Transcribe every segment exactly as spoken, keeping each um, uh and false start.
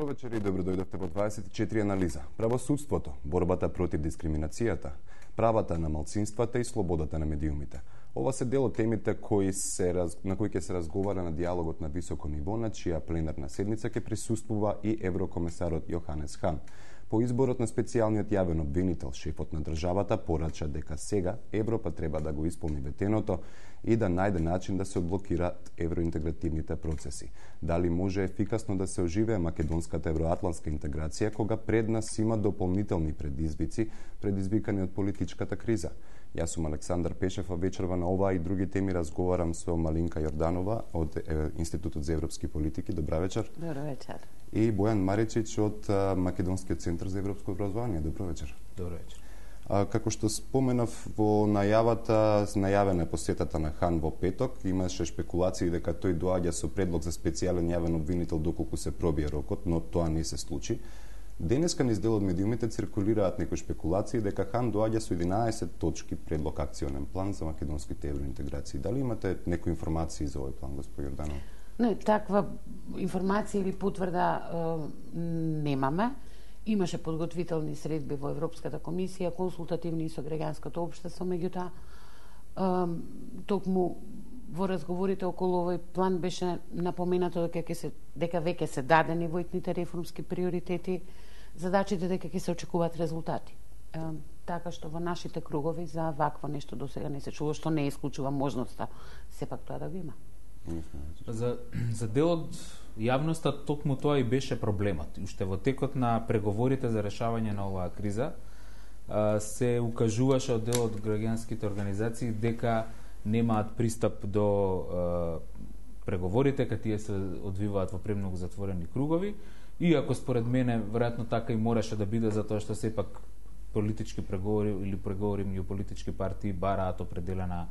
Добро вечер и добро дојдовте во дваесет и четири анализа. Правосудството, борбата против дискриминацијата, правата на малцинствата и слободата на медиумите. Ова се дел од темите кои се раз... на кои ќе се разговара на диалогот на високо ниво, на чија пленарна седница ќе присуствува и еврокомесарот Јоханес Хан. По изборот на специјалниот јавен обвинител, шефот на државата порача дека сега Европа треба да го исполни ветеното и да најде начин да се одблокираат евроинтегративните процеси. Дали може ефикасно да се оживее македонската евроатлантска интеграција кога пред нас има дополнителни предизвици, предизвикани од политичката криза? Јас сум Александар Пешев, а вечерва на оваа и други теми разговарам со Малинка Јорданова од Институтот за европски политики. Добра вечер. Добро вечер. И Бојан Маричич од Македонскиот центар за европско образование. Добро вечер. Добро вечер. А, како што споменав во најавата, најавена посетата на Хан во петок, имаше шпекулации дека тој доаѓа со предлог за специјален јавен обвинител доколку се пробие рокот, но тоа не се случи. Денеска низ дел од медиумите циркулираат некои шпекулации дека Хан доаѓа со единаесет точки предлог акционен план за македонските евроинтеграции. Дали имате некои информации за овој план, господин Јорданов? Не, таква информација или потврда е, немаме. Имаше подготвителни средби во Европската комисија, консултативни со граѓанското општество, меѓутоа токму во разговорите околу овој план беше напоменато дека ќе се дека веќе се дадени војтните реформски приоритети, задачите дека ќе се очекуваат резултати. Е, така што во нашите кругови за вакво нешто досега не се чуло, што не исклучува можноста сепак тоа да го има. За, за дел од јавноста токму тоа и беше проблемот. Уште во текот на преговорите за решавање на оваа криза се укажуваше од дел од граѓанските организации дека немаат пристап до преговорите, кога тие се одвиваат во премногу затворени кругови, и ако според мене веројатно така и мораше да биде, затоа што сепак политички преговори или преговори меѓу политички партии бараат определена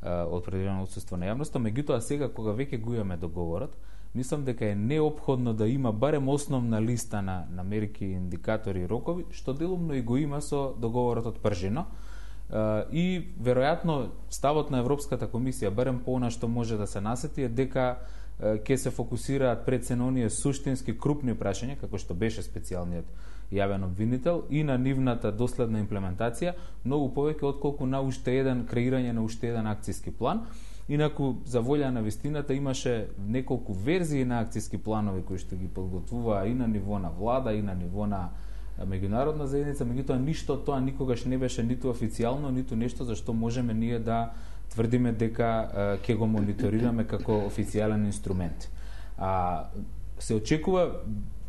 определено отсуство на јавноста. Меѓутоа сега кога веќе го имаме договорот, мислам дека е неопходно да има барем основна листа на, на мерки, индикатори и рокови, што делумно и го има со договорот од Пржино. И веројатно ставот на Европската комисија, барем по она што може да се насети, е дека ќе се фокусираат пред се на оние суштински крупни прашања, како што беше специјалниот јавен обвинител, и на нивната доследна имплементација, многу повеќе отколку на уште еден креирање на уште еден акциски план. Инаку, за волја на вистината, имаше неколку верзии на акциски планови кои што ги подготвуваа и на ниво на влада, и на ниво на меѓународна заедница, меѓутоа ништо тоа никогаш не беше ниту официјално, ниту нешто за што можеме ние да тврдиме дека ќе го мониторираме како официјален инструмент. А, се очекува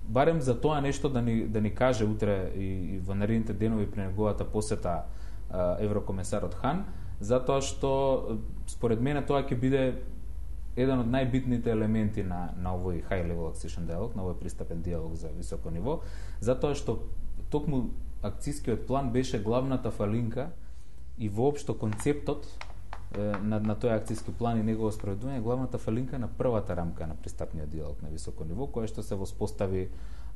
барем за тоа нешто да ни, да ни каже утре и, и во наредните денови при неговата посета а, еврокомесарот Хан, затоа што според мене тоа ќе биде еден од најбитните елементи на, на овој high level accession dialogue, на овој пристапен диалог за високо ниво, затоа што токму акцискиот план беше главната фалинка и воопшто концептот на, на тој акциски план и негово спроведување, главната фалинка на првата рамка на пристапниот диалог на високо ниво, која што се воспостави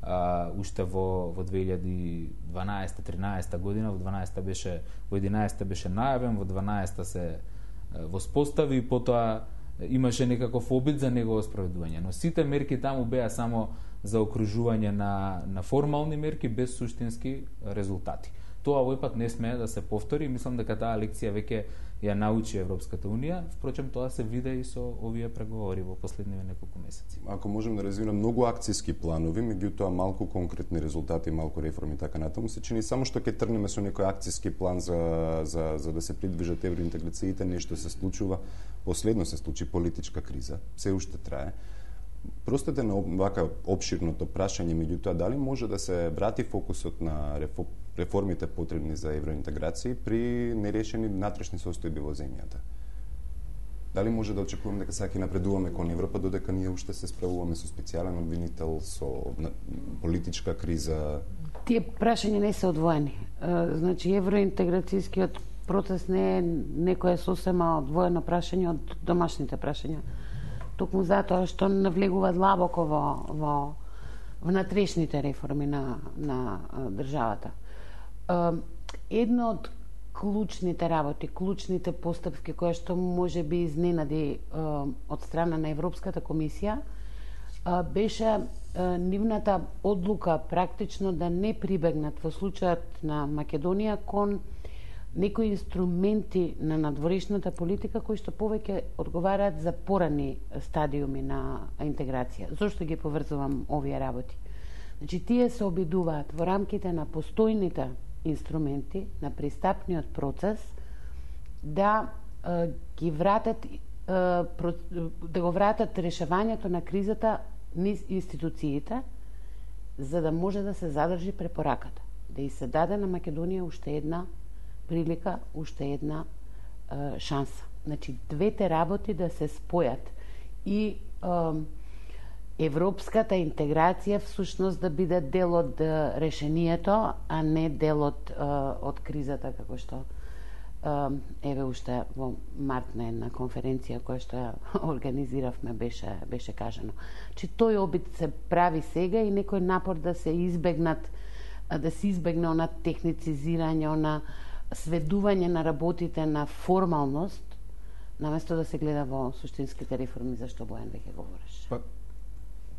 а, уште во, во две илјади и дванаесета тринаесета година, во дванаесета беше, во единаесета беше најавен, во дванаесета се а, воспостави и потоа имаше некаков обид за негово спроведување. Но сите мерки таму беа само за окружување на, на формални мерки без суштински резултати. Тоа овој пат не смее да се повтори. Мислам дека таа лекција веќе ја научи Европската унија. Впрочем, тоа се виде и со овие преговори во последниве неколку месеци. Ако можем да резюмираме, многу акциски планови, меѓутоа малку конкретни резултати, малку реформи така натаму, се чини само што ќе трнеме со некој акциски план за, за, за да се придвижат евроинтеграциите, нешто се случува. Последно се случи политичка криза, се уште трае. Простете на вака обширното прашање, меѓутоа, дали може да се врати фокусот на реформите потребни за евроинтеграција при нерешени натрешни состојби во земјата? Дали може да очекуваме дека сега ќе напредуваме кон Европа, додека ние уште се справуваме со специјален обвинител, со политичка криза? Тие прашања не се одвоени. Значи, евроинтеграцијскиот процес не е некое сосема одвоено прашање од домашните прашања. Токму затоа што навлегува длабоко во, во внатрешните реформи на, на државата. Едно од клучните работи, клучните постапки кои што може би изненади од страна на Европската комисија беше нивната одлука практично да не прибегнат во случајот на Македонија кон некои инструменти на надворешната политика кои што повеќе одговараат за порани стадиуми на интеграција. Зошто ги поврзувам овие работи? Значи, тие се обидуваат во рамките на постојните инструменти на пристапниот процес да е, ги вратат е, про, да го вратат решавањето на кризата низ институциите за да може да се задржи препораката. Да и се даде на Македонија уште една прилика, уште една е, шанса. Значи, двете работи да се спојат и е, европската интеграција всушност да биде дел од е, решението, а не дел од, е, од кризата, како што е, еве уште во март на една конференција која што ја организиравме беше, беше кажано. Чи тој обид се прави сега и некој напор да се избегнат, да се избегне она техницизирање, она сведување на работите на формалност, наместо да се гледа во суштинските реформи, за што Бојан веќе говореше. Па,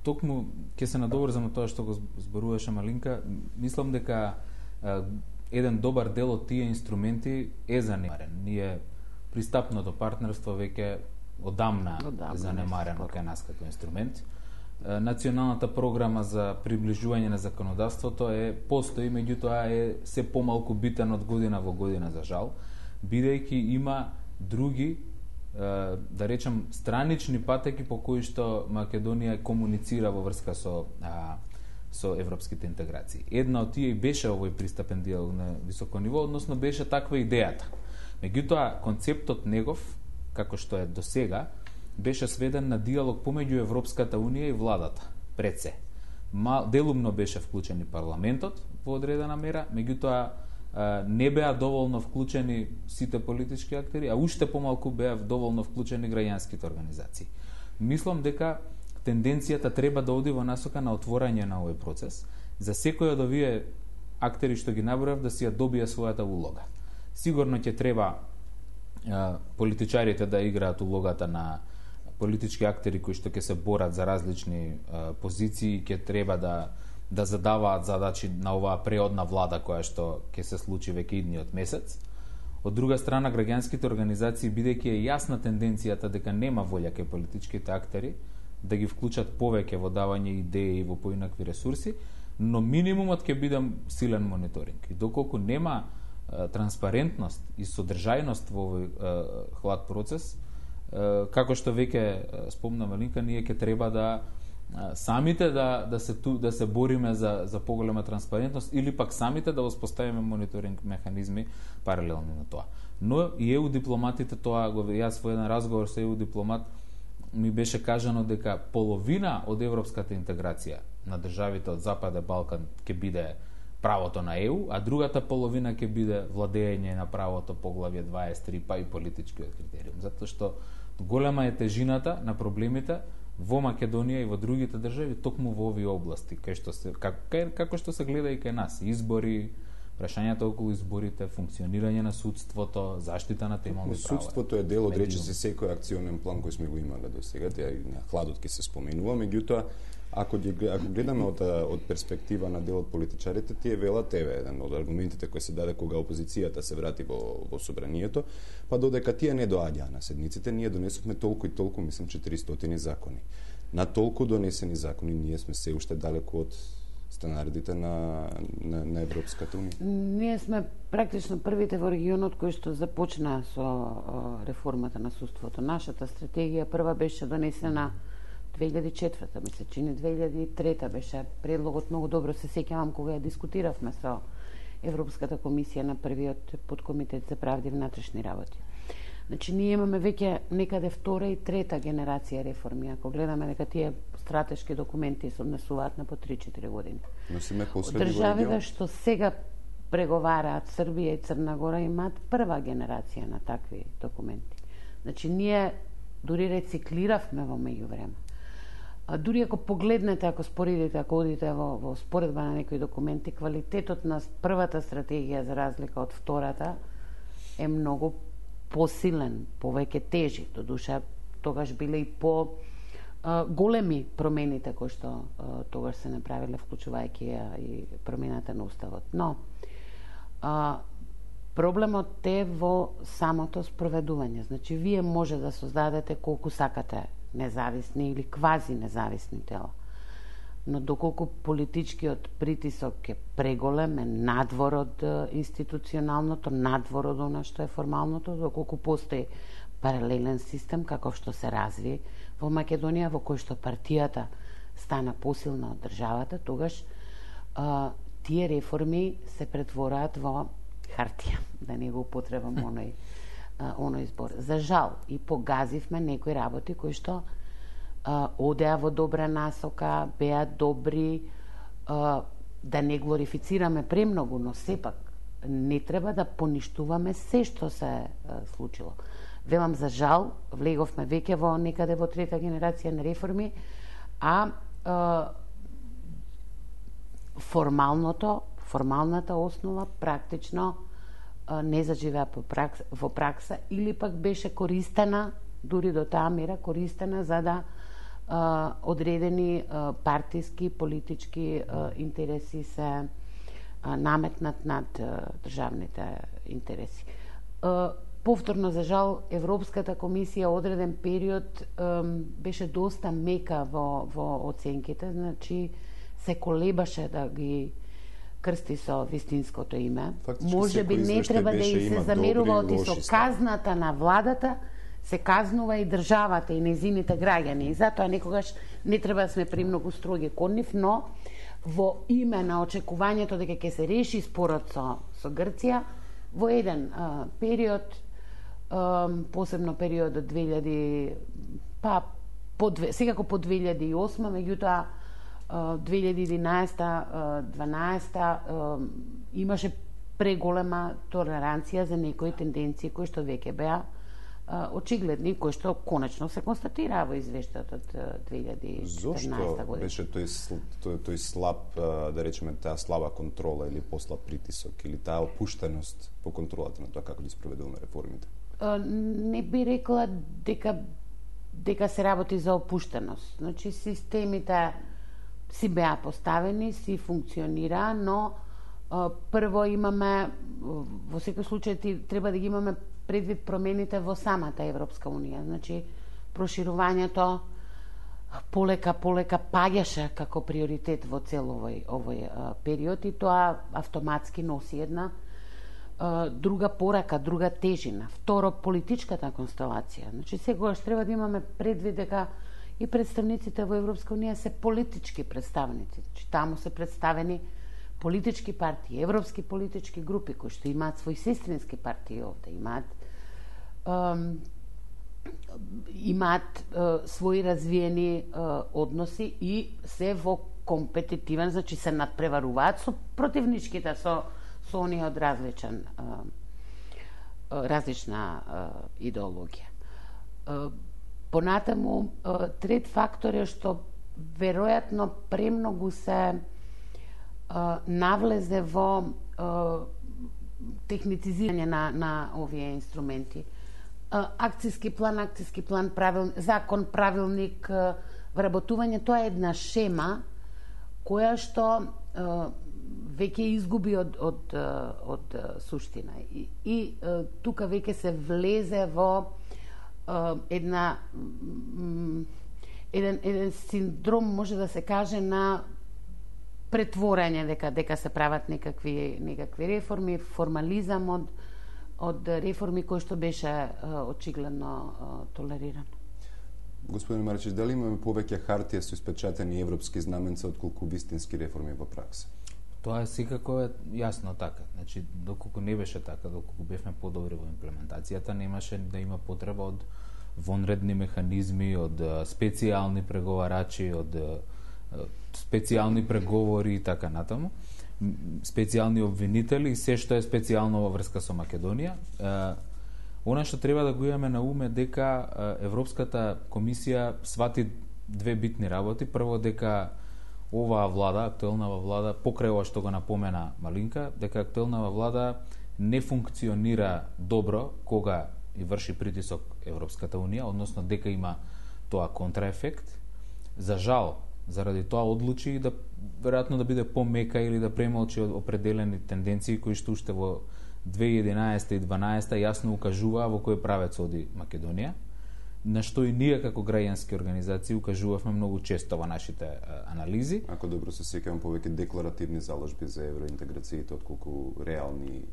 токму ќе се надоврзам на тоа што го зборуваше Малинка. Мислам дека а, еден добар дел од тие инструменти е занемарен. Ние пристапното партнерство веќе одамна е занемарено кај нас како инструмент. Националната програма за приближување на законодавството е постои, меѓутоа е се помалку битен од година во година, за жал, бидејќи има други, да речем, странични патеки по кои што Македонија комуницира во врска со а, со европските интеграции. Една од тие беше овој пристапен диалог на високо ниво, односно беше таква идејата. Меѓутоа, концептот негов, како што е досега, беше сведен на диалог помеѓу Европската Унија и владата, пред се. Мал, делумно беше вклучен и парламентот во одредена мера, меѓутоа не беа доволно вклучени сите политички актери, а уште помалку беа доволно вклучени граѓанските организации. Мислам дека тенденцијата треба да оди во насока на отворање на овој процес, за секој од овие актери што ги набројав да си ја добие својата улога. Сигурно ќе треба а, политичарите да играат улогата на политички актери кои што ќе се борат за различни а, позиции, ќе треба да да задаваат задачи на оваа преодна влада која што ќе се случи веќе идниот месец. Од друга страна, граѓанските организации, бидејќи е јасна тенденцијата дека нема волја кај политичките актери да ги вклучат повеќе во давање идеи и во поинакви ресурси, но минимумот ќе биде силен мониторинг. И доколку нема а, транспарентност и содржајност во овој а, хлад процес, а, како што веќе спомна Малинка, ние ќе треба да а, самите да да се ту, да се бориме за за поголема транспарентност или пак самите да воспоставиме мониторинг механизми паралелно на тоа. Но и е у дипломатите тоа, го јас во еден разговор со е у дипломат ми беше кажано дека половина од европската интеграција на државите од Западен Балкан ќе биде правото на Е У, а другата половина ќе биде владење на правото поглавје дваесет и три, па и политичкиот критериум. Затоа што голема е тежината на проблемите во Македонија и во другите држави токму во овие области, кај што се како, како што се гледа и кај нас, избори, прашањата околу изборите, функционирање на судството, заштита на темални права. Судството е дел од речиси секој акционен план кој сме го имале до сега, тя и на хладот ќе се споменува, меѓутоа ако ако гледаме од од перспектива на дел од политичарите, тие велат еве еден од аргументите кои се даде кога опозицијата се врати во во собранието, па додека тие не доаѓаа на седниците, ние донесовме толку и толку, мислам четиристотини закони. На толку донесени закони ние сме се уште далеку од стандардите на, на, на Европската Унија. Ние сме практично првите во регионот кои што започнаа со о, реформата на судството. Нашата стратегија прва беше донесена две илјади и четврта, ми се чини две илјади и трета беше предлогот, многу добро се сеќавам кога ја дискутиравме со Европската комисија на првиот подкомитет за правди и внатрешни работи. Значи, ние имаме веќе некаде втора и трета генерација реформи, ако гледаме дека тие стратешки документи се однесуваат на по три-четири години. Но сме последни државите што сега преговараат, Србија и Црна Гора, имаат прва генерација на такви документи. Значи, ние дури рециклиравме во меѓувреме. А дури ако погледнете, ако споредите, ако одите во, во споредба на некои документи, квалитетот на првата стратегија за разлика од втората е многу посилен, повеќе тежи. Додуша, тогаш биле и по големи промените кои што тогаш се направиле, вклучувајќи и промената на уставот. Но а, проблемот е во самото спроведување. Значи, вие може да создадете колку сакате независни или квази независни тела. Но доколку политичкиот притисок е преголем, е надвор од институционалното, надвор од она што е формалното, доколку постои паралелен систем, каков што се разви во Македонија, во кој што партијата стана посилна од државата, тогаш а, тие реформи се претвораат во хартија, да не го употребам оној, а, оној збор. За жал, и погазивме некои работи кои што а, одеа во добра насока, беа добри, а, да не глорифицираме премногу, но сепак не треба да поништуваме се што се а, случило. Велам, за жал, влеговме веќе во некаде во трета генерација на реформи, а, а формалното, формалната основа практично а, не заживеа по пракса, во пракса, или пак беше користена, дури до таа мера, користена за да а, одредени а, партиски, политички а, интереси се а, наметнат над а, државните интереси. А, Повторно, за жал, Европската комисија одреден период ем, беше доста мека во, во оценките, значи се колебаше да ги крсти со вистинското име. Фактички, може би не треба да и се замерува оти со казната на владата, се казнува и државата и незините граѓани. И затоа некогаш не треба да сме премногу строги кон нив, но во име на очекувањето дека ќе се реши спорот со, со Грција, во еден а, период, посебно период од две илјади, па по две, секако по две илјади и осма, меѓутоа две илјади и единаесета дванаесета имаше преголема толеранција за некои тенденции кои што веќе беа очигледни, кои што конечно се констатираа во извештајот од две илјади и четирнаесета година. Зошто беше тој, тој, тој слаб, да речеме, таа слаба контрола или послаб притисок, или таа опуштеност по контролата на тоа како ги спроведуваме реформите? Не би рекла дека дека се работи за опуштеност. Значи, системите си беа поставени, си функционира, но а, прво имаме, во секој случај треба да ги имаме предвид промените во самата Европска Унија. Значи, проширувањето полека полека паѓаше како приоритет во цел овој, овој а, период, и тоа автоматски носи една друга порака, друга тежина. Второ, политичката констелација. Значи, секогаш треба да имаме предвид дека и представниците во Европска Унија се политички представници. Значи, таму се представени политички партии, европски политички групи кои што имаат свои сестрински партии овде, имаат ем, имаат е, свои развиени е, односи и се во компетитивен, значи се надпреваруваат со противничките, со со оние од различен, различна идеологија. Понатаму, трет фактор е што веројатно премногу се навлезе во техницизирање на, на овие инструменти. Акцијски план, акцијски план, правил, закон, правилник, вработување, тоа е една шема која што веќе изгуби од, од, од, од суштина. И, и тука веќе се влезе во една еден, еден синдром, може да се каже, на претворање, дека дека се прават некакви некакви реформи, формализам од од реформи кои што беше очигледно толериран. Господин Марчич, дали имаме повеќе хартија со испечатени европски знаменца отколку вистински реформи во пракса? Тоа е секако е јасно така. Значи, доколку не беше така, доколку бевме подобри во имплементацијата, немаше да има потреба од вонредни механизми, од специјални преговарачи, од специјални преговори и така натаму, специјални обвинители и се што е специјално во врска со Македонија. Она што треба да го имаме на уме дека Европската комисија свати две битни работи. Прво, дека оваа влада, актуелнава влада, покрај ова што го напомена Малинка, дека актуелнава влада не функционира добро кога и врши притисок Европската Унија, односно дека има тоа контраефект. За жал, заради тоа одлучи да веројатно да биде помека или да премолчи определени тенденции кои што уште во две илјади и единаесета и дванаесета јасно укажуваа во кој правец оди Македонија, на што и ние како граѓански организации укажувавме многу често во нашите а, анализи. Ако добро се сеќавам, повеќе декларативни заложби за евроинтеграциите отколку реални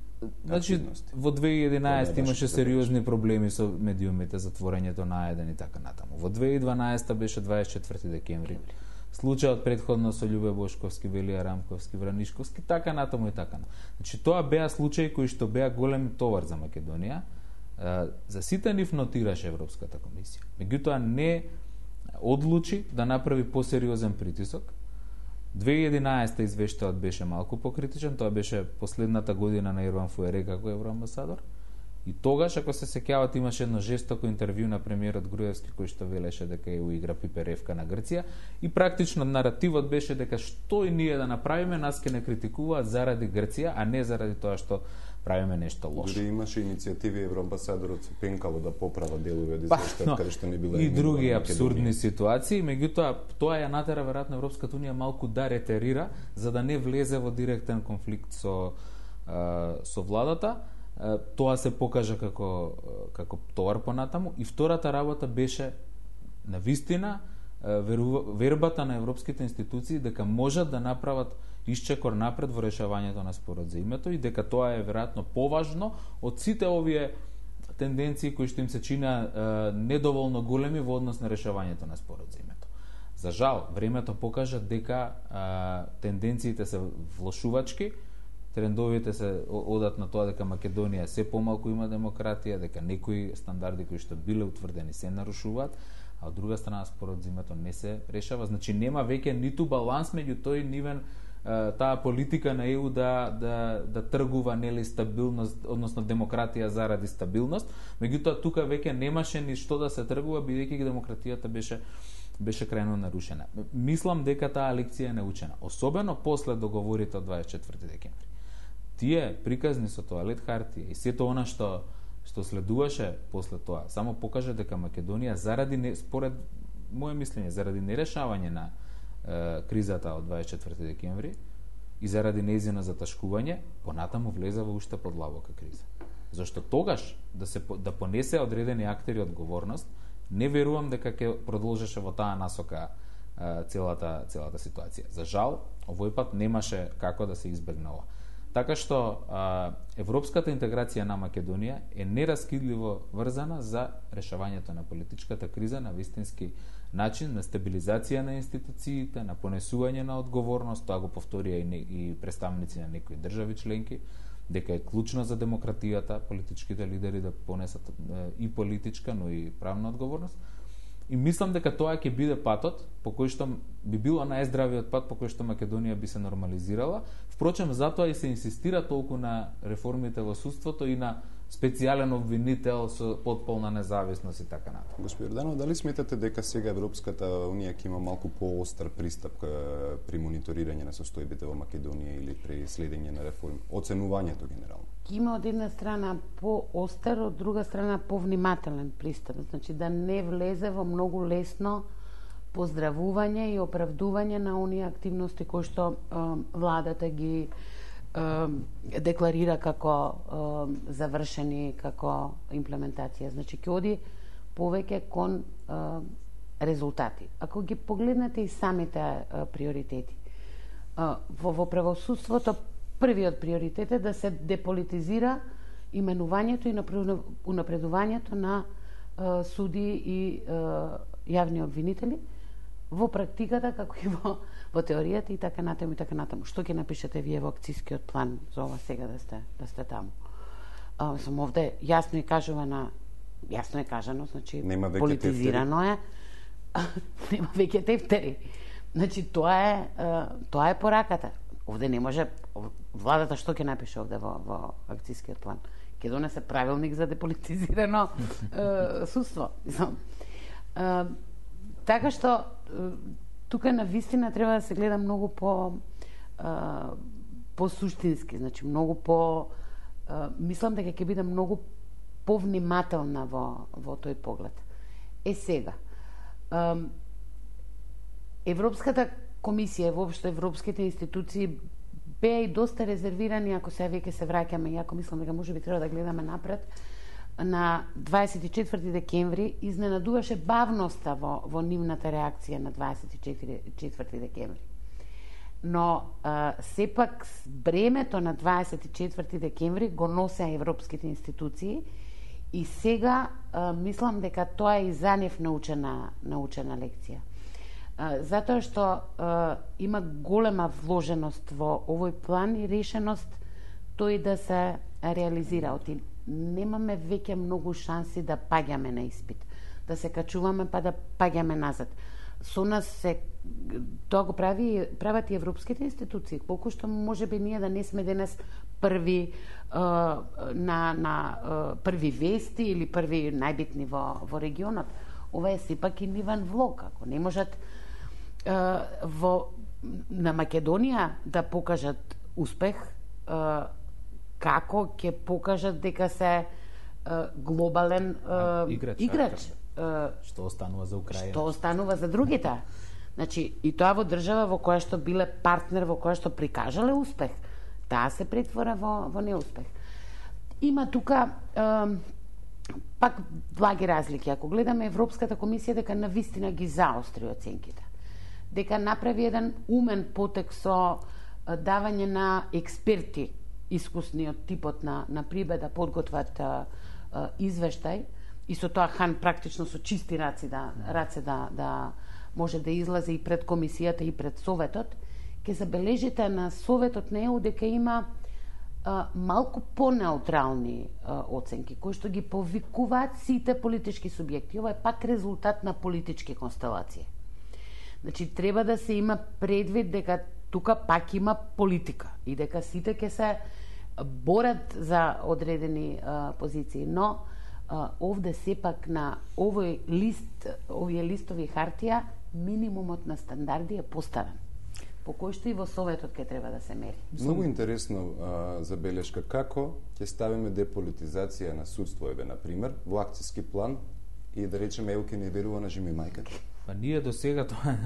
Значи, активности. во две илјади и единаесета Тоа не имаше беше сериозни проблеми со медиумите, затворењето на А еден и така натаму. Во две илјади и дванаесета беше дваесет и четврти декември. Случајот предходно со Љубе Бошковски, Велија Рамковски, Вранишковски, така натаму и така. Значи, тоа беа случаи кои што беа голем товар за Македонија. За сите нив нотираше Европската комисија. Меѓутоа не одлучи да направи посериозен притисок. две илјади и единаесета извештајот беше малку покритичен, тоа беше последната година на Ерван Фуере како евроамбасадор. И тогаш, ако се сеќавате, имаше едно жестоко интервју на премиерот Груевски кој што велеше дека ја уигра Пиперевка на Грција и практично наративот беше дека што и ние да направиме, нас ке не критикуваат заради Грција, а не заради тоа што правиме нешто лошо. Дури имаше иницијативи евроамбасадорот пенкало да поправа делови од Па, извештајот но, каде што не била и други Македонија. апсурдни ситуации, меѓутоа тоа ја натера веројатно Европската унија малку да ретерира за да не влезе во директен конфликт со а, со владата. А, тоа се покажа како како товар понатаму и втората работа беше на вистина вербата на европските институции дека можат да направат исчекор напред во решавањето на спорот за името и дека тоа е веројатно поважно од сите овие тенденции кои што им се чина е, недоволно големи во однос на решавањето на спорот за името. За жал, времето покажа дека е, тенденциите се влошувачки, трендовите се одат на тоа дека Македонија се помалку има демократија, дека некои стандарди кои што биле утврдени се нарушуваат, а од друга страна спорот за името не се решава. Значи нема веќе ниту баланс меѓу тој нивен таа политика на Е У да да да тргува нели стабилност, односно демократија заради стабилност. Меѓутоа тука веќе немаше ни што да се тргува бидејќи демократијата беше беше крајно нарушена. Мислам дека таа лекција е научена, особено после договорите од дваесет и четврти декември. Тие приказни со тоалет хартија и сето она што што следуваше после тоа, само покажа дека Македонија заради не, според мое мислење, заради нерешавање на е, кризата од дваесет и четврти декември и заради нејзино заташкување, понатаму влезе во уште подлабока криза. Зашто тогаш да се да понесе одредени актери одговорност, не верувам дека ќе продолжеше во таа насока е, целата целата ситуација. За жал, овој пат немаше како да се избегне ова. Така што а, европската интеграција на Македонија е нераскидливо врзана за решавањето на политичката криза на вистински начин, на стабилизација на институциите, на понесување на одговорност, тоа го повторија и, не, и представници на некои држави членки, дека е клучно за демократијата, политичките лидери да понесат е, и политичка, но и правна одговорност. И мислам дека тоа ќе биде патот по кој што би било најздравиот пат по кој што Македонија би се нормализирала. Впрочем, затоа и се инсистира толку на реформите во судството и на специјален обвинител со потполна независност и така натаму. Господин Јорданов, дали сметате дека сега Европската унија ќе има малку поостар пристап при мониторирање на состојбите во Македонија или при следење на реформи, оценувањето генерално? Има од една страна поостар, од друга страна повнимателен пристап, значи да не влезе во многу лесно поздравување и оправдување на оние активности кои што е, владата ги е, декларира како е, завршени, како имплементација. Значи ќе оди повеќе кон е, резултати. Ако ги погледнете и самите е, приоритети, е, во, во правосудството првиот приоритет е да се деполитизира именувањето и унапредувањето на е, суди и е, јавни обвинители во практиката, како и во, во теоријата и така натаму и така натаму. Што ќе напишете вие во акцискиот план за ова сега да сте да сте таму? А, сум овде јасно и кажувана, јасно е кажано, значи политизирано е. Нема веќе тефтери. Значи тоа е тоа е пораката. Овде не може владата што ќе напише овде во во акцискиот план? Ќе донесе правилник за деполитизирано е, судство. Е, така што тука на вистина треба да се гледа многу по а, по суштински, значи многу по а, мислам дека ќе биде многу повнимателна во во тој поглед. Е сега, а, Европската комисија и воопшто европските институции беа и доста резервирани, ако се веќе се враќаме, иако мислам дека можеби треба да гледаме напред, на дваесет и четврти декември изненадуваше бавноста во, во нивната реакција на дваесет и четврти декември. Но а, сепак бремето на дваесет и четврти декември го носеа европските институции и сега а, мислам дека тоа е и за нив научена, научена лекција. А, затоа што а, има голема вложеност во овој план и решеност тој да се реализира. Оти немаме веќе многу шанси да паѓаме на испит, да се качуваме па да паѓаме назад. Со нас се тоа го прави прават и европските институции, колку што можеби ние да не сме денес први uh, на на uh, први вести или први најбитни во во регионот. Ова е сепак и нивен влог, ако не можат uh, во на Македонија да покажат успех, uh, како ќе покажат дека се uh, глобален uh, играч, играч. Uh, што останува за Украина, што останува за другите. Значи, и тоа во држава во која што биле партнер, во која што прикажале успех, таа се претвора во, во неуспех. Има тука uh, пак благи разлики. Ако гледаме Европската комисија, дека навистина ги заостри оценките, дека направи еден умен потек со uh, давање на експерти искусни од типот на, на Прибе да подготват а, а, извештај и со тоа Хан практично со чисти раце да, раце да, да може да излезе и пред комисијата и пред Советот, ќе забележите на Советот на Е У дека има а, малку по-неутрални а, оценки, кои што ги повикуваат сите политички субјекти. Ова е пак резултат на политички констелации. Значи, треба да се има предвид дека тука пак има политика и дека сите ќе се борат за одредени а, позиции, но а, овде сепак на овој лист, овие листови хартија, минимумот на стандарди е поставен, по кој што и во Советот ќе треба да се мери. Многу интересно а, забелешка како ќе ставиме деполитизација на судство, еве на пример, во акциски план и да речеме Е У ќе не верува на Жими мајката. Па ние до сега тоа,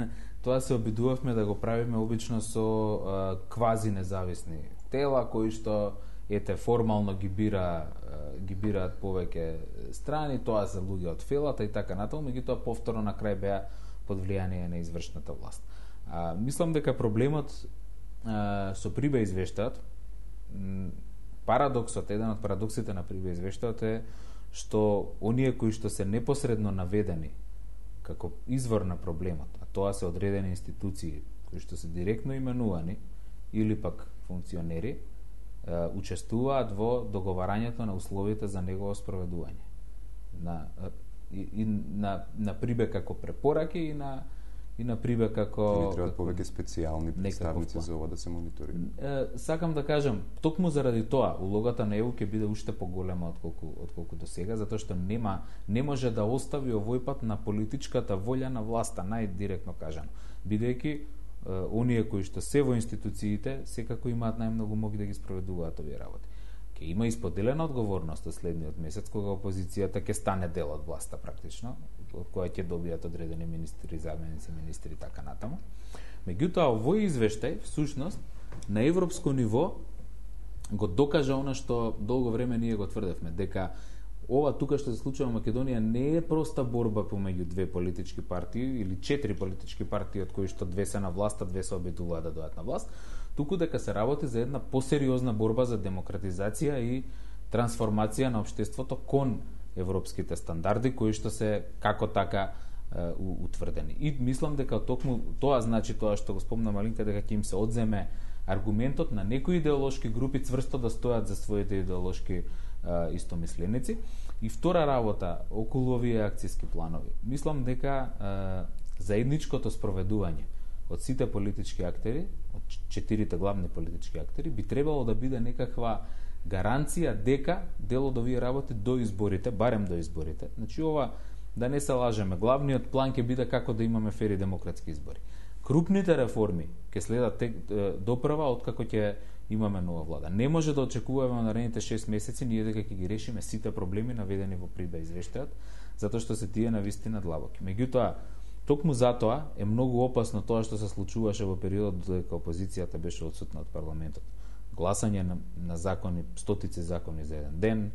тоа се обидувавме да го правиме обично со а, квази независни тела кои што ете формално ги бира ги бираат повеќе страни, тоа се луѓе од фелата и така натаму, меѓутоа повторно на крај беа под влијание на извршната власт. А, мислам дека проблемот а, со Прибе извештаат, парадоксот, еден од парадоксите на Прибе извештаат е што оние кои што се непосредно наведени како извор на проблемот, а тоа се одредени институции кои што се директно именувани или пак функционери, учествуваат во договарањето на условите за негово спроведување. На и, и на на Прибе како препораки и на и на Прибе како не требаат повеќе специјални представници за ова да се мониторира. Е, сакам да кажам, токму заради тоа улогата на Е У ќе биде уште поголема отколку отколку до сега, затоа што нема не може да остави овој пат на политичката волја на власта, најдиректно кажано, бидејќи оние кои што се во институциите секако имаат најмногу моги да ги спроведуваат овие работи. Ке има исподелена одговорност од следниот месец кога опозицијата ќе стане дел од власта практично, од која ќе добијат одредени министри, заменици министри и така натаму. Меѓутоа овој извештај всушност на европско ниво го докажа она што долго време ние го тврдевме, дека ова тука што се случува во Македонија не е проста борба помеѓу две политички партии или четири политички партии од кои што две се на власт, а две се обидуваат да дојдат на власт, туку дека се работи за една посериозна борба за демократизација и трансформација на општеството кон европските стандарди кои што се како така е, утврдени. И мислам дека токму тоа значи тоа што го спомна Малинка, дека ќе им се одземе аргументот на некои идеолошки групи цврсто да стојат за своите идеолошки истомисленици. И втора работа околу овие акциски планови. Мислам дека е, заедничкото спроведување од сите политички актери, од четирите главни политички актери, би требало да биде некаква гаранција дека дел од овие работи до изборите, барем до изборите. Значи ова, да не се лажеме, главниот план ќе биде како да имаме фери демократски избори. Крупните реформи ќе следат допрва откако ќе имаме нова влада. Не може да очекуваме на наредните шест месеци ние дека ќе ги решиме сите проблеми наведени во Прибе извештајот, затоа што се тие навистина длабоки. Меѓутоа, Токму затоа е многу опасно тоа што се случуваше во периодот додека опозицијата беше отсутна од парламентот. Гласање на, на закони, стотици закони за еден ден,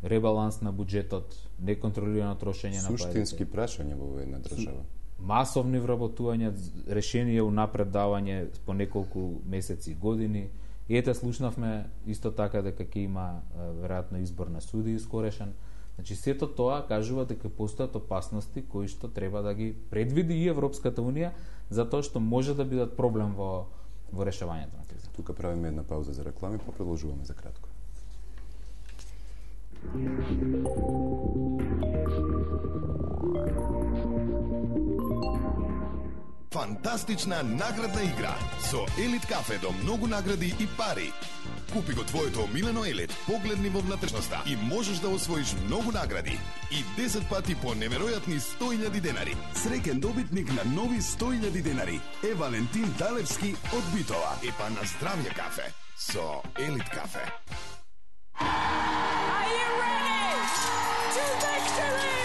ребаланс на буџетот, неконтролирано трошење на парите. Суштински прашања во една држава. Масовни вработувања, решенија унапред давање по неколку месеци и години. И ете слушнавме исто така дека ќе има веројатно избор на суди скорешен. Значи сето тоа кажува дека постојат опасности кои што треба да ги предвиди и Европската унија, затоа што може да бидат проблем во во решавањето на кризата. Тука правиме една пауза за реклами, па продолжуваме за кратко. Фантастична наградна игра со Елит кафе до многу награди и пари. Купи го твоето омилено Елит, погледни во внатрешноста и можеш да освоиш многу награди и десет пати по неверојатни сто илјади денари. Среќен добитник на нови сто илјади денари е Валентин Талевски од Битола. И па на здравје кафе со Елит кафе. Are you ready to victory?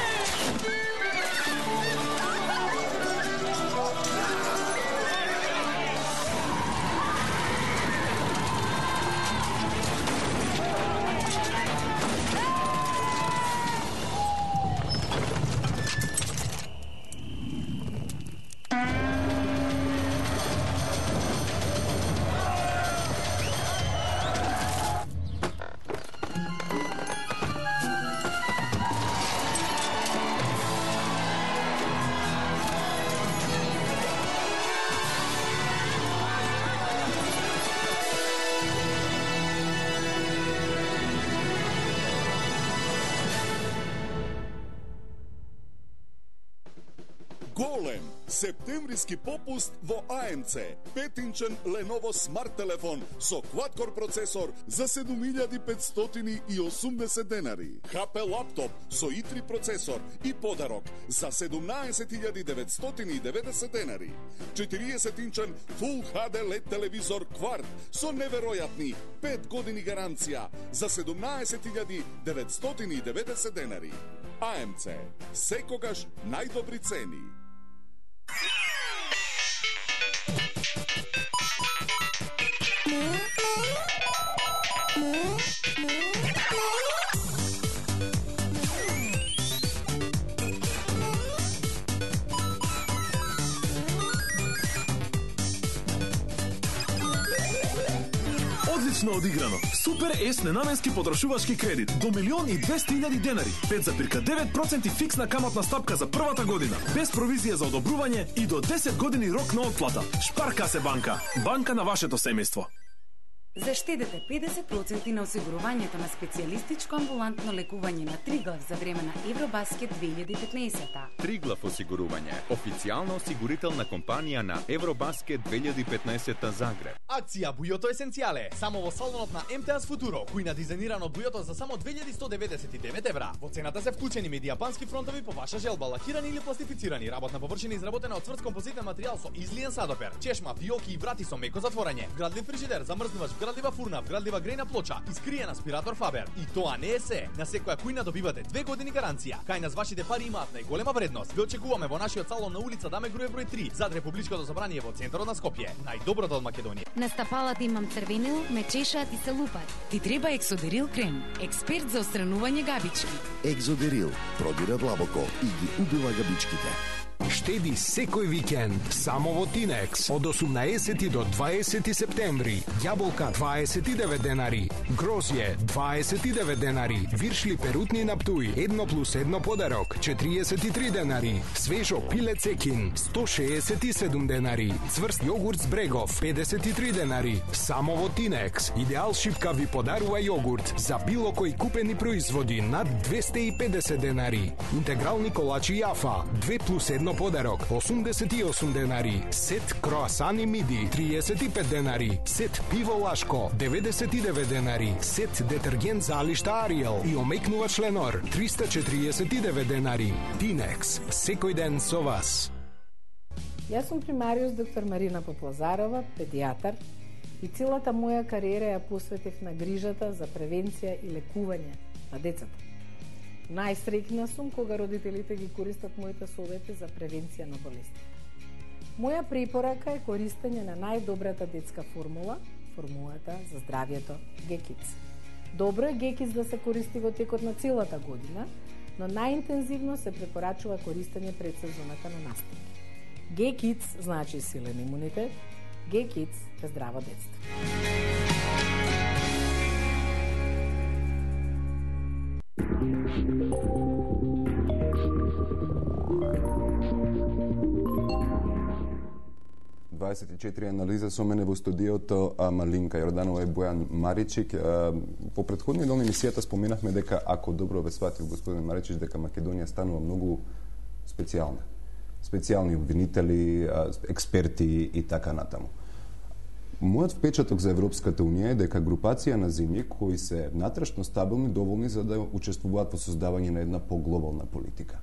Голем септемвриски попуст во А М Це. пет-инчен Lenovo смарт телефон со quad-core процесор за седум илјади петстотини и осумдесет денари. Х П лаптоп со И три процесор и подарок за седумнаесет илјади деветстотини и деветдесет денари. четириесет-инчен Full Х Д L E D телевизор Quart со неверојатни пет години гаранција за седумнаесет илјади деветстотини и деветдесет денари. А М Це. Секогаш најдобри цени. Одлично одиграно. Супер С ненаменски потрошувачки кредит до милион и двесте илјади денари, пет зарез девет проценти фиксна каматна стапка за првата година, без провизија за одобрување и до десет години рок на отплата. Шпарка се банка, банка на вашето семејство. Заштедете педесет проценти на осигурувањето на специјалистичко амбулантно лекување на Триглав за време на Евробаскет две илјади и петнаесета. Триглав осигурување, официјална осигурителна компанија на Евробаскет две илјади и петнаесета Загреб. Акција Бујото есенцијале, само во салонот на М Т С Футуро, кој на дизајнирано бујото за само две илјади сто деветдесет и девет евра. Во цената се вклучени медијапански фронтови по ваша желба, лакирани или пластифицирани, работна површина изработена од цврст композитен материјал со излиен садопер, чешма, фиоки и врати со меко затворање, вградлив фрижидер, замрзнувач, вградлива фурна, вградлива грејна плоча, искриен аспиратор Фабер. И тоа не е се. На секоја кујна добивате две години гаранција. Кај нас вашите пари имаат најголема вредност. Ве очекуваме во нашиот салон на улица Даме Груев број три, зад Републичкото собрание во центарот на Скопје. Најдоброто од Македонија. На стапалата имам црвенил, ме чешаат и се лупат. Ти треба Ексодерил крем, експерт за отстранување габички. Ексодерил продира длабоко и ги убива габичките. Штеди секој викенд само во Тинекс од осумнаесети до дваесети септември. Јаболка дваесет и девет денари, грозје дваесет и девет денари, виршли перутни на Птуј едно плюс едно подарок четириесет и три денари, свежо пиле цекин сто шеесет и седум денари, цврст јогурт с Брегов педесет и три денари. Само во Тинекс. Идеал шипка ви подарува јогурт за било кој купени производи над двесте и педесет денари. Интегрални колачи Јафа две плюс едно подарок осумдесет и осум денари. Сет кроасани миди триесет и пет денари. Сет пиво Лашко деветдесет и девет денари. Сет детергент за алишта Ариел и омекнувач Ленор триста четириесет и девет денари. Тинекс, секој ден со вас. Јас сум примариус доктор Марина Поплазарова, педијатар, и целата моја кариера ја посветив на грижата за превенција и лекување на децата. Најсреќна сум кога родителите ги користат моите совети за превенција на болести. Моја препорака е користење на најдобрата детска формула, формулата за здравието Г-Kids. Добро е Г-Kids да се користи во текот на целата година, но најинтензивно се препорачува користење пред сезоната на настапи. Г-Kids значи силен имунитет, Г-Kids е здраво детство. дваесет и четири анализа со мене во студиото, а Малинка Јорданова и Бојан Маричик. Во претходни дел на емисијата споменавме дека, ако добро ве сватив господин Маричич, дека Македонија станува многу специјална. Специјални обвинители, експерти и така натаму. Мојот впечаток за Европската Унија е дека групација на земји кои се натрашно стабилни доволни за да учествуваат во создавање на една поглобална политика.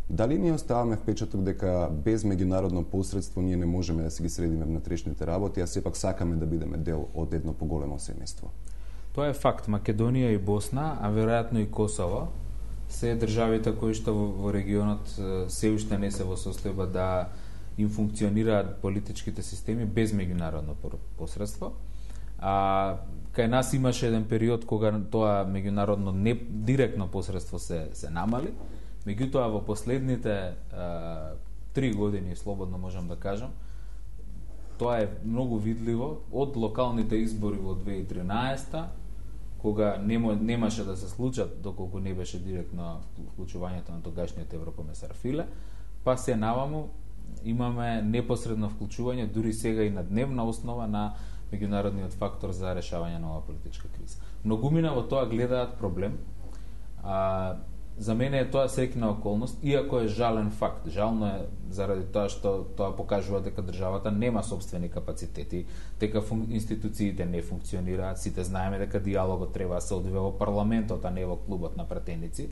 Дали ние оставаме впечаток дека без меѓународно посредство ние не можеме да се ги средиме внатрешните работи, а сепак сакаме да бидеме дел од едно поголемо семејство? Тоа е факт. Македонија и Босна, а веројатно и Косово, се државите кои што во регионот се уште не се во состојба да им функционираат политичките системи без меѓународно посредство. А кај нас имаше еден период кога тоа меѓународно не директно посредство се се намали. Меѓутоа во последните а, три години, слободно можам да кажам, тоа е многу видливо од локалните избори во две илјади и тринаесета, кога нема, немаше да се случат доколку не беше директно вклучувањето на тогашниот еврокомесар Филе, па се наваму имаме непосредно вклучување дури сега и на дневна основа на меѓународниот фактор за решавање на оваа политичка криза. Многумина во тоа гледаат проблем. А, За мене е тоа среќна околност, иако е жален факт. Жално е заради тоа што тоа покажува дека државата нема собствени капацитети, дека фун... институциите не функционираат. Сите знаеме дека диалогот треба да се одвива во парламентот, а не во клубот на пратеници.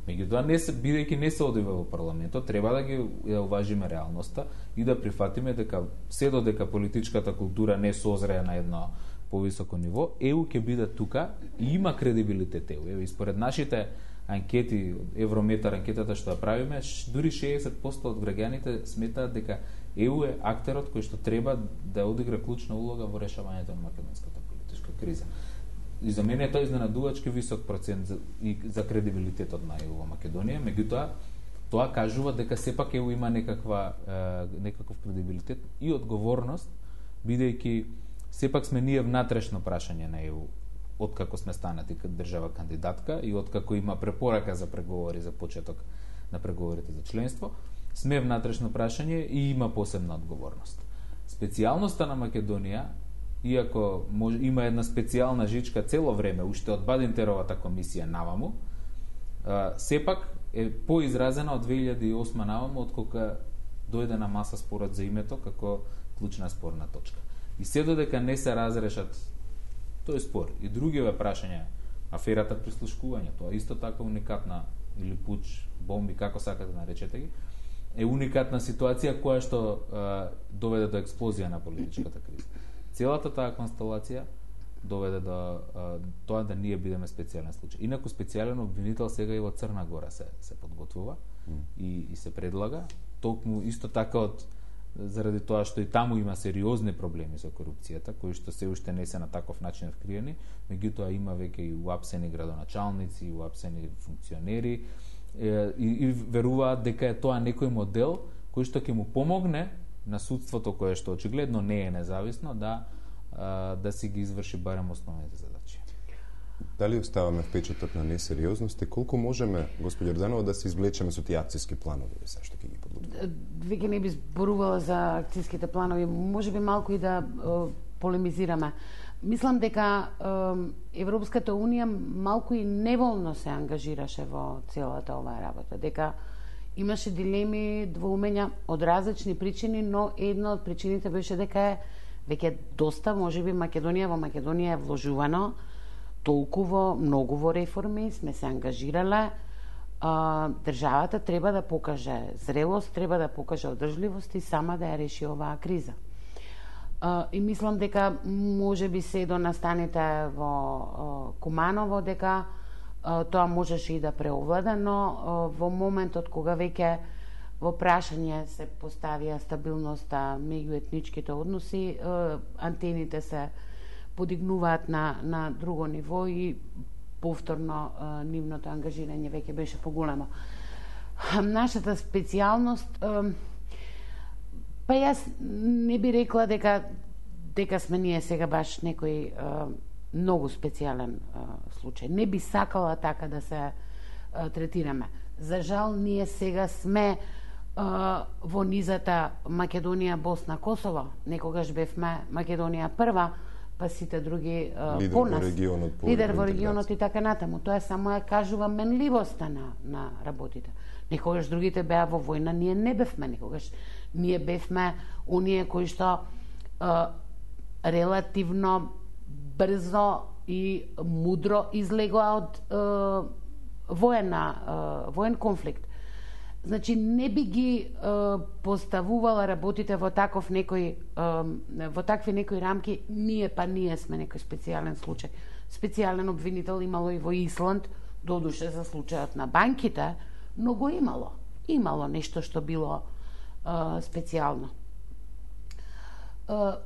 Меѓутоа, не се, бидејќи не се одвива во парламентот, треба да ги да уважиме реалноста и да прифатиме дека се додека политичката култура не созрее на едно повисоко ниво, Е У ќе биде тука и има кредибилитет Е У. Еве, според нашите анкети, Еврометар анкетата што ја правиме, дури шеесет проценти од граѓаните сметаат дека Е У е актерот кој што треба да одигра клучна улога во решавањето на македонската политичка криза. И за мене е тоа изненадувачки висок процент за, и за кредибилитетот на Е У во Македонија, меѓутоа тоа кажува дека сепак Е У има некаква е, некаков кредибилитет и одговорност, бидејќи сепак сме ние внатрешно прашање на Е У откако сме станати држава кандидатка и откако има препорака за преговори за почеток на преговорите за членство, сме внатрешно прашање и има посебна одговорност. Специјалноста на Македонија, иако може, има една специјална жичка цело време, уште од Бадинтеровата комисија наваму, а, сепак е поизразена од две илјади и осма наваму, откога дојде на маса спорот за името како клучна спорна точка. И се додека не се разрешат тој спор и другиве прашања, аферата прислушкување, тоа исто така уникатна, или пуч, бомби, како сакате да наречете ги, е уникатна ситуација која што а, доведе до експлозија на политичката криза. Целата таа констелација доведе до а, тоа да ние бидеме специјален случај. Инаку специјален обвинител сега и во Црна Гора се се подготвува mm. и, и се предлага, токму исто така од заради тоа што и таму има сериозни проблеми со корупцијата, кои што се уште не се на таков начин откриени, меѓутоа има веќе и уапсени градоначалници, и уапсени функционери, е, и, и веруваат дека е тоа некој модел кој што ќе му помогне на судството, кое што очигледно не е независно, да а, да си ги изврши барем основните задачи. Дали оставаме впечаток на несериозност и колку можеме, господи Јорданова, да се извлечеме со тие акцијски планови, се што ќе ги подготвиме? Веќе не би зборувала за акцијските планови, можеби малку и да е, полемизираме. Мислам дека е, Европската Унија малку и неволно се ангажираше во целата оваа работа, дека имаше дилеми, двоумења од различни причини, но една од причините беше дека е веќе доста, можеби Македонија во Македонија е вложувано толку многу во реформи, сме се ангажирале, а, државата треба да покаже зрелост, треба да покаже одржливост и сама да ја реши оваа криза. А, и мислам дека може би се до настаните во а, Куманово, дека тоа можеше и да преовлада, но во моментот кога веќе во прашање се поставија стабилноста меѓу етничките односи, антените се подигнуваат на, на друго ниво и повторно нивното ангажирање веќе беше поголемо. Нашата специјалност, па јас не би рекла дека дека сме ние сега баш некој многу специјален случај. Не би сакала така да се третираме. За жал, ние сега сме во низата Македонија, Босна, Косово. Некогаш бевме Македонија прва, па сите други лидер по нас. Во регионот, по лидер во регионот и така натаму. Тоа само ја кажува менливоста на, на работите. Некогаш другите беа во војна, ние не бевме некогаш. Ние бевме оние кои што а, релативно брзо и мудро излегоа од а, воена, а, воен конфликт. Значи, не би ги е, поставувала работите во таков некој, е, во такви некои рамки, ние па ние сме некој специјален случај. Специјален обвинител имало и во Исланд, додуше за случајот на банките, но го имало. Имало нешто што било е, специјално. Е,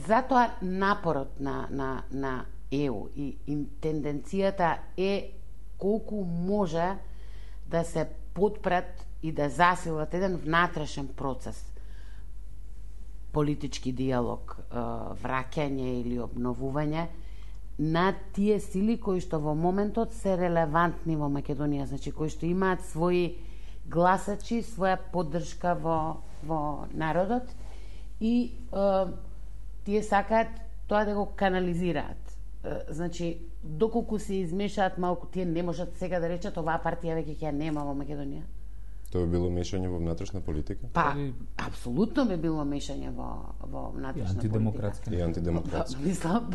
затоа напорот на, на, на Е У и тенденцијата е колку може да се подпрат и да засилат еден внатрешен процес, политички диалог, враќање или обновување на тие сили кои што во моментот се релевантни во Македонија, значи кои што имаат своји гласачи, своја поддршка во, во народот и е, тие сакаат тоа да го канализираат. Значи, доколку се измешаат малку, тие не можат сега да речат оваа партија веќе ќе нема во Македонија. Тоа би било мешање во внатрешна политика? Па, апсолутно би било мешање во, во внатрешна и антидемократска. политика. И антидемократска. Па, мислам,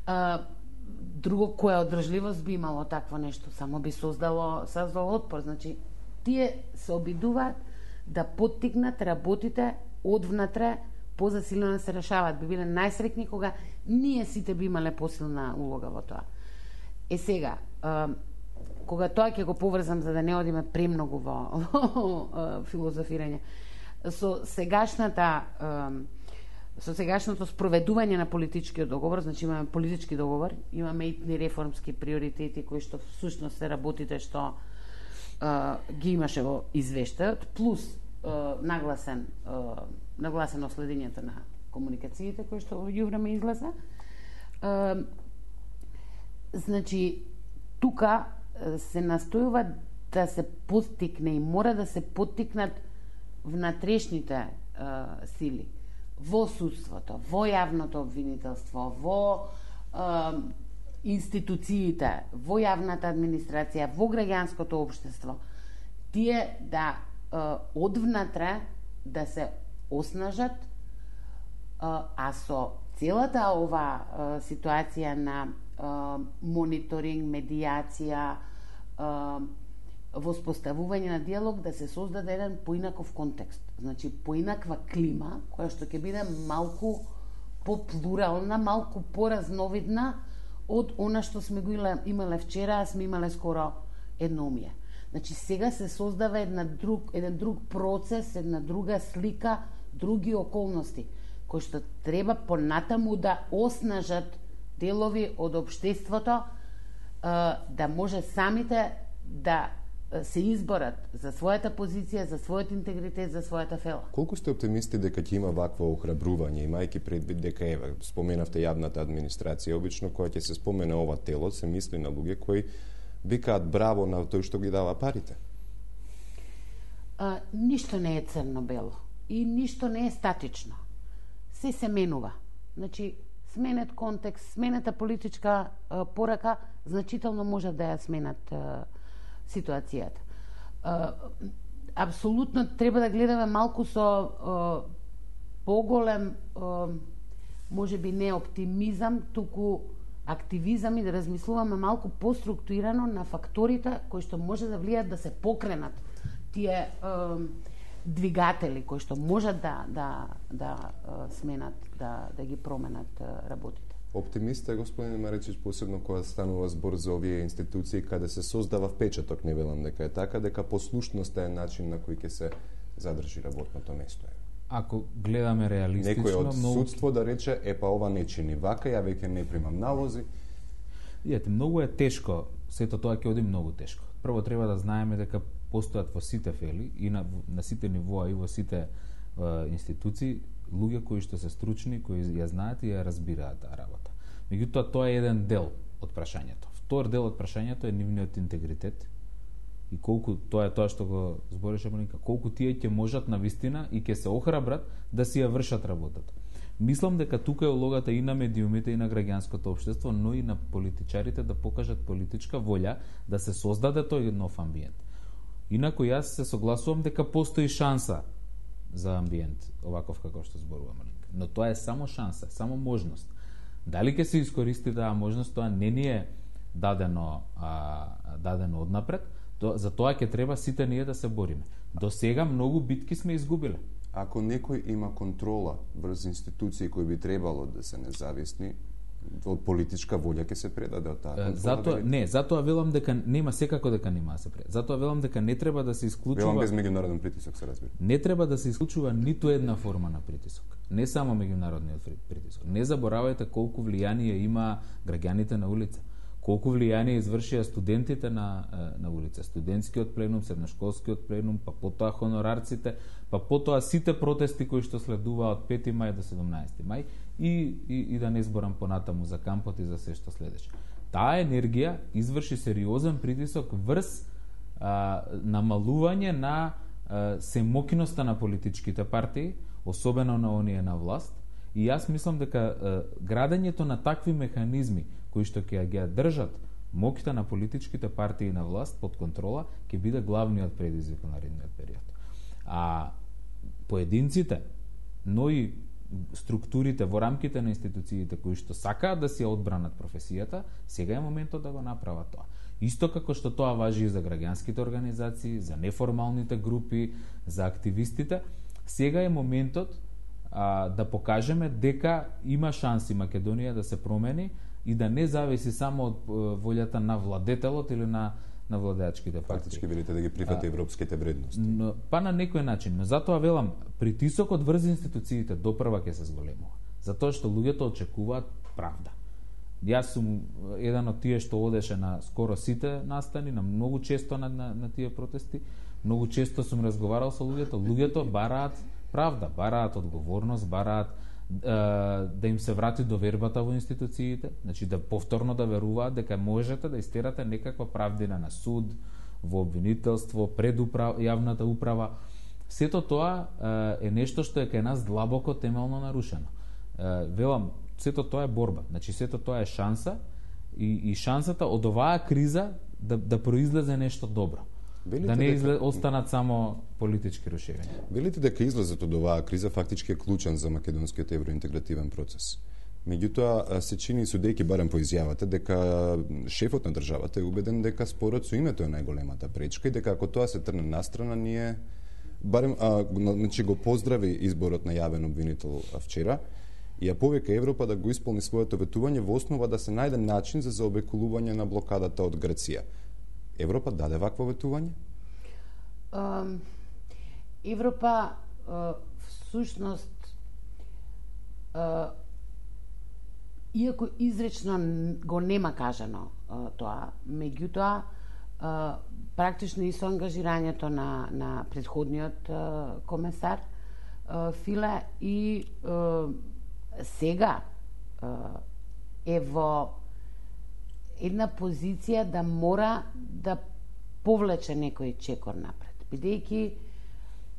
а, друго која одржливост би имало такво нешто, само би создало, создало отпор. Значи, тие се обидуваат да поттикнат работите одвнатре позасилено да се решаваат. Би биле најсрекни кога ние сите би имале посилна улога во тоа. Е сега, а, кога тоа ќе го поврзам за да не одиме премногу во, во филозофирање, со сегашната а, со сегашното спроведување на политичкиот договор, значи имаме политички договор, имаме итни реформски приоритети кои што всушност се работите што а, ги имаше во извештајот, плюс а, нагласен а, нагласено следењето на комуникациите кои што во јувреме излеза. А, значи, тука се настојува да се поттикне и мора да се поттикнат внатрешните а, сили во судството, во јавното обвинителство, во а, институциите, во јавната администрација, во граѓанското општество, тие да а, одвнатре да се оснажат, а, а со целата ова а, ситуација на а, мониторинг, медијација, а, воспоставување на диалог, да се создаде еден поинаков контекст. Значи, поинаква клима, која што ќе биде малку поплурална, малку поразновидна од она што сме го имале вчера, а сме имале скоро едноумие. Значи, сега се создава една друг, еден друг процес, една друга слика, други околности, кои што треба понатаму да оснажат делови од општеството, да може самите да се изборат за својата позиција, за својот интегритет, за својата фела. Колку сте оптимисти дека ќе има вакво охрабрување, имајќи предвид дека еве споменавте јавната администрација, обично кога ќе се спомене ова тело, се мисли на луѓе кои викаат браво на тој што ги дава парите? А, ништо не е црно-бело и ништо не е статично. Се се менува. Значи, сменет контекст, сменета политичка а, порака, значително може да ја сменат а, ситуацијата. А, апсолутно треба да гледаме малку со а, поголем, а, може би не оптимизам, туку активизам и да размислуваме малку поструктурирано на факторите кои што може да влијат да се покренат тие а, двигатели кои што можат да да да а, сменат, да да ги променат а, работите. Оптимист е господин Маречич, посебно кога станува збор за овие институции каде се создава впечаток, не велам дека е така, дека послушноста е начин на кој ќе се задржи работното место. Ако гледаме реалистично, некој од многу... судство да рече, е па ова не чини вака, ја веќе не примам налози. Иете, многу е тешко, сето тоа ќе оди многу тешко. Прво треба да знаеме дека постојат во сите фели и на, на сите нивоа и во сите е, институции луѓе кои што се стручни, кои ја знаат и ја разбираат таа работа. Меѓутоа тоа е еден дел од прашањето. Втор дел од прашањето е нивниот интегритет и колку тоа е тоа што го збореше Маринка, колку тие ќе можат навистина и ќе се охрабрат да си ја вршат работата. Мислам дека тука е улогата и на медиумите и на граѓанското општество, но и на политичарите да покажат политичка волја да се создаде тој нов амбиент. Инаку јас се согласувам дека постои шанса за амбиент, оваков како што зборува Маринка. Но тоа е само шанса, само можност. Дали ќе се искористи таа можност, тоа не ни е дадено, а, дадено однапред, то, за тоа ќе треба сите ние да се бориме. До сега многу битки сме изгубиле. Ако некој има контрола врз институции кои би требало да се независни, од политичка волја ќе се предаде од таа контрола. Затоа не, затоа велам дека нема секако дека нема да се предаде. Затоа велам дека не треба да се исклучува. Велам без меѓународен притисок, се разбира. Не треба да се исклучува ниту една форма на притисок. Не само меѓународниот притисок. Не заборавајте колку влијание има граѓаните на улица. Колку влијание извршија студентите на, на улица, студентскиот пленум, средношколскиот пленум, па потоа хонорарците, па потоа сите протести кои што следува од пети мај до седумнаесети мај и, и, и да не зборам понатаму за кампот и за се што следеше. Таа енергија изврши сериозен притисок врз а, намалување на а, семокиноста на политичките партии, особено на оние на власт, и јас мислам дека а, градењето на такви механизми кои што ќе ги држат моќта на политичките партии на власт под контрола, ќе биде главниот предизвик на наредниот период. А поединците, но и структурите во рамките на институциите кои што сакаат да си одбранат професијата, сега е моментот да го направат тоа. Исто како што тоа важи и за граѓанските организации, за неформалните групи, за активистите, сега е моментот а, да покажеме дека има шанси Македонија да се промени и да не зависи само од волјата на владетелот или на на владеачките партии. Фактички велите да ги прифати европските вредности. Но, па на некој начин, но затоа велам, притисокот врз институциите допрва ќе се зголемува. Затоа што луѓето очекуваат правда. Јас сум еден од тие што одеше на скоро сите настани, на многу често на, на, на тие протести, многу често сум разговарал со луѓето, луѓето бараат правда, бараат одговорност, бараат да им се врати довербата во институциите, значи да повторно да веруваат дека можете да истерате некаква правдина на суд, во обвинителство, пред управ... јавната управа. Сето тоа е нешто што е кај нас длабоко темелно нарушено. Велам, сето тоа е борба, значи сето тоа е шанса и, и шансата од оваа криза да, да произлезе нешто добро. Велите да не дека... изле... останат само политички рушевиња. Велите дека излезот од оваа криза фактички е клучен за македонскиот евроинтегративен процес. Меѓутоа, се чини судејќи барем по изјавата дека шефот на државата е убеден дека спорот со името е најголемата пречка и дека ако тоа се трне настрана, ние барем а, значи го поздрави изборот на јавен обвинител вчера и ја повика Европа да го исполни своето ветување во основа да се најде начин за заобиколување на блокадата од Грција. Европа даде вакво ветување? Uh, Европа uh, всушност uh, иако изречно го нема кажано uh, тоа, меѓутоа uh, практично и со ангажирањето на, на предходниот uh, комесар uh, Филе и uh, сега uh, е во една позиција да мора да повлече некој чекор напред, бидејќи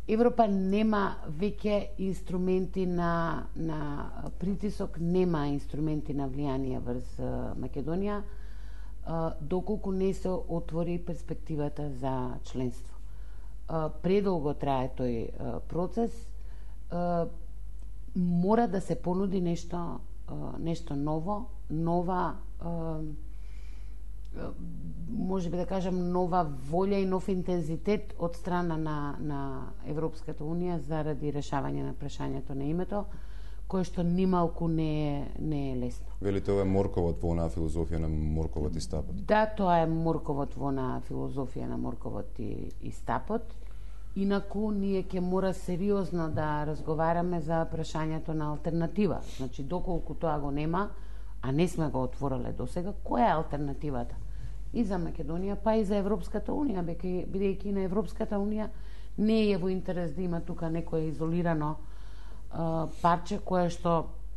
Европа нема веќе инструменти на, на притисок, нема инструменти на влијание врз Македонија, доколку не се отвори перспективата за членство. Предолго трае тој процес, мора да се понуди нешто, нешто ново, нова може би да кажам нова волја и нов интензитет од страна на, на Европската Унија заради решавање на прашањето на името, кое што нималку не е, не е лесно. Велите ова е морковот во онаа филозофија на морковот и стапот? Да, тоа е морковот во онаа филозофија на морковот и, и стапот. Инаку, ние ќе мора сериозно да разговараме за прашањето на алтернатива. Значи, доколку тоа го нема, а не сме го отвориле досега, која е алтернативата? И за Македонија, па и за Европската Унија, бидејќи на Европската Унија не е во интерес да има тука некое изолирано а, парче кое што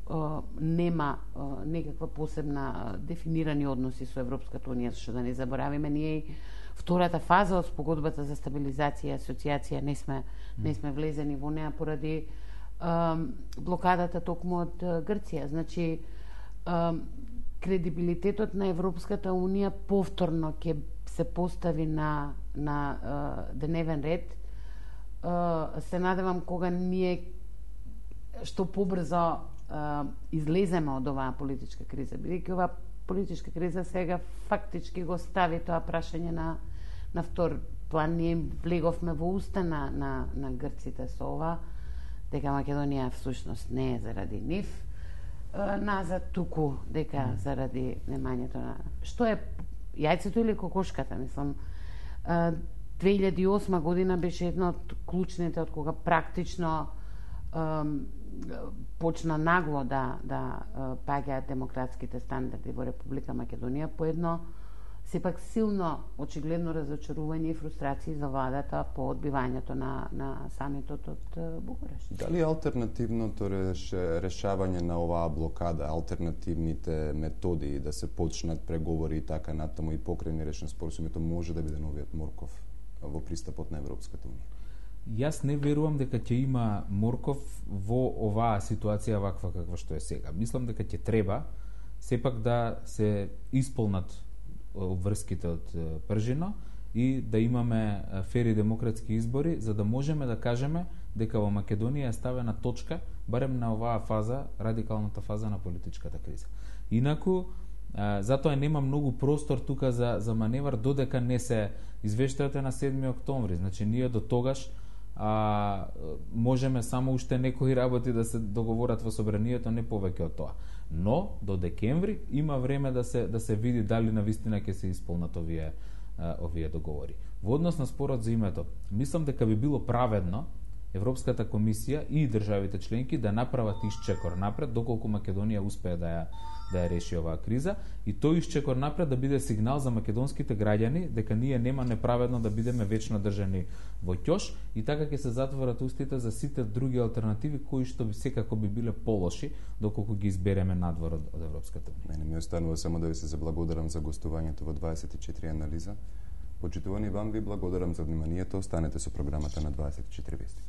а, нема а, некаква посебна дефинирани односи со Европската Унија, што да не заборавиме, ние и втората фаза од спогодбата за стабилизација и асоциација не сме не сме влезени во неа поради а, блокадата токму од Грција. Значи, а, кредибилитетот на Европската Унија повторно ќе се постави на на а, дневен ред. А, се надевам кога ние што побрзо а, излеземе од оваа политичка криза, бидејќи оваа политичка криза сега фактички го стави тоа прашање на на втор план. Ние влеговме во уста на на на грците со ова, дека Македонија всушност не е заради нив назад, туку дека заради немањето на што е јајцето или кокошката, мислам. две илјади и осма година беше една од клучните од кога практично ем, почна нагло да да паѓаат демократските стандарди во Република Македонија по едно сепак силно очигледно разочарување и фрустрации за владата по одбивањето на на самитот од Букурешт. Дали алтернативното реш, решавање на оваа блокада, алтернативните методи да се почнат преговори и така натаму и покрени решен споразумето може да биде новиот морков во пристапот на Европската Унија? Јас не верувам дека ќе има морков во оваа ситуација ваква каква што е сега. Мислам дека ќе треба сепак да се исполнат обврските од пржино и да имаме фери демократски избори, за да можеме да кажеме дека во Македонија е ставена точка барем на оваа фаза, радикалната фаза на политичката криза. Инаку, затоа нема многу простор тука за, за маневар, додека не се извештајате на седми октомври. Значи, ние до тогаш а, можеме само уште некои работи да се договорат во собранието, не повеќе од тоа. Но до декември има време да се да се види дали навистина ќе се исполнат овие а, овие договори. Во однос на спорот за името, мислам дека би било праведно Европската комисија и државите членки да направат исчекор напред доколку Македонија успее да ја да ја реши оваа криза, и тој исчекор напред да биде сигнал за македонските граѓани дека ние нема неправедно да бидеме вечно држани во ќош, и така ќе се затворат устите за сите други алтернативи кои што би секако би биле полоши доколку ги избереме надвор од, од Европската Унија. Мене ми останува само да ви се заблагодарам за гостувањето во дваесет и четири анализа. Почитувани вам, ви благодарам за вниманието. Останете со програмата на дваесет и четири вести.